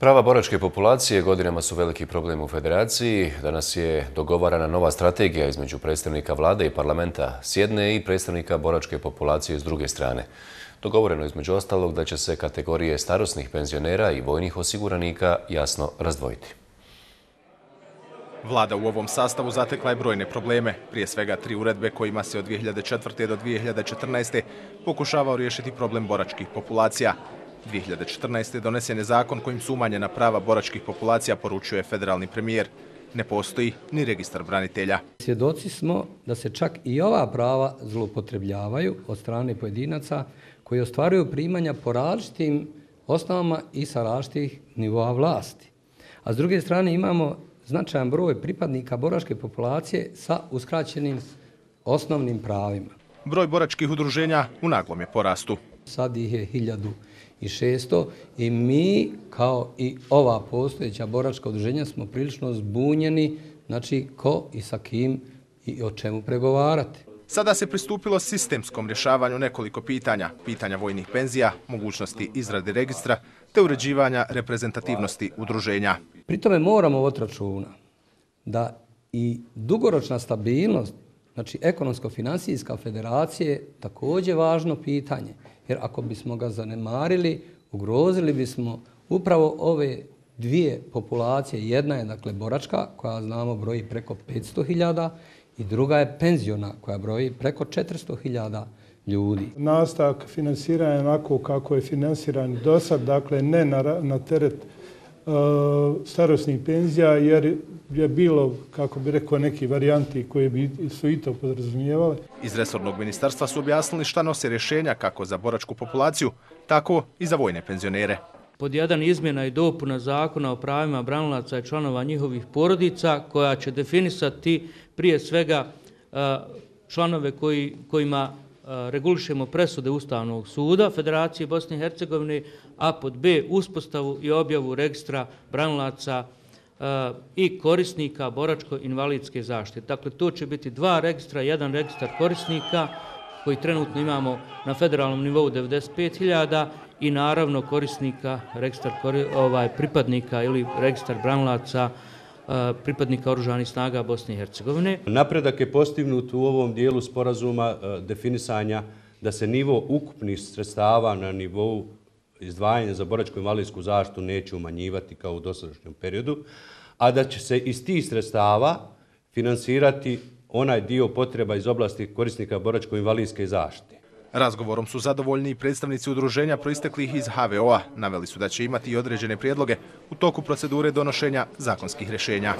Prava boračke populacije godinama su veliki problem u Federaciji. Danas je dogovarana nova strategija između predstavnika vlade i parlamenta s jedne i predstavnika boračke populacije s druge strane. Dogovoreno je između ostalog da će se kategorije starosnih penzionera i vojnih osiguranika jasno razdvojiti. Vlada u ovom sastavu zatekla je brojne probleme, prije svega 3 uredbe kojima se od 2004. do 2014. pokušavao riješiti problem boračkih populacija. 2014. donesen je zakon kojim su umanjena prava boračkih populacija, poručuje federalni premijer. Ne postoji ni registar branitelja. Svjedoci smo da se čak i ova prava zloupotrebljavaju od strane pojedinaca koji ostvaruju primanja po različitim osnovama i sa različitih nivoa vlasti. A s druge strane imamo značajan broj pripadnika boračke populacije sa uskraćenim osnovnim pravima. Broj boračkih udruženja u naglom je porastu. Sad ih je 1600 i mi, kao i ova postojeća boračka udruženja, smo prilično zbunjeni, znači ko i sa kim i o čemu pregovarati. Sada se pristupilo sistemskom rješavanju nekoliko pitanja. Pitanja vojnih penzija, mogućnosti izrade registra te uređivanja reprezentativnosti udruženja. Pri tome moramo voditi računa da i dugoročna stabilnost, znači ekonomsko-financijska federacija je također važno pitanje. Jer ako bismo ga zanemarili, ugrozili bismo upravo ove dvije populacije. Jedna je dakle boračka, koja znamo broji preko 500.000 i druga je penziona koja broji preko 400.000 ljudi. Nastavak finansiranja onako kako je finansiran do sad, dakle ne na teret starosnih penzija, jer je bilo, kako bi rekao, neki varijanti koje bi su i to podrazumijevale. Iz resornog ministarstva su objasnili šta nose rješenja kako za boračku populaciju, tako i za vojne penzionere. Pod 1 izmjena i dopuna zakona o pravima branilaca i članova njihovih porodica koja će definisati prije svega članove kojima regulišemo presude Ustavnog suda Federacije Bosne i Hercegovine, a pod B uspostavu i objavu registra branilaca i korisnika boračko-invalidske zaštite. Dakle, to će biti 2 registra, 1 registar korisnika koji trenutno imamo na federalnom nivou 95.000 i naravno korisnika, registar pripadnika ili registar branilaca pripadnika oružanih snaga Bosne i Hercegovine. Napredak je postignut u ovom dijelu sporazuma definisanja da se nivo ukupnih sredstava na nivou izdvajanja za boračko-invalidsku zaštitu neće umanjivati kao u dosadašnjem periodu, a da će se iz tih sredstava finansirati onaj dio potreba iz oblasti korisnika boračko-invalidske zaštite. Razgovorom su zadovoljni i predstavnici udruženja proisteklih iz HVO-a. Naveli su da će imati i određene prijedloge u toku procedure donošenja zakonskih rješenja.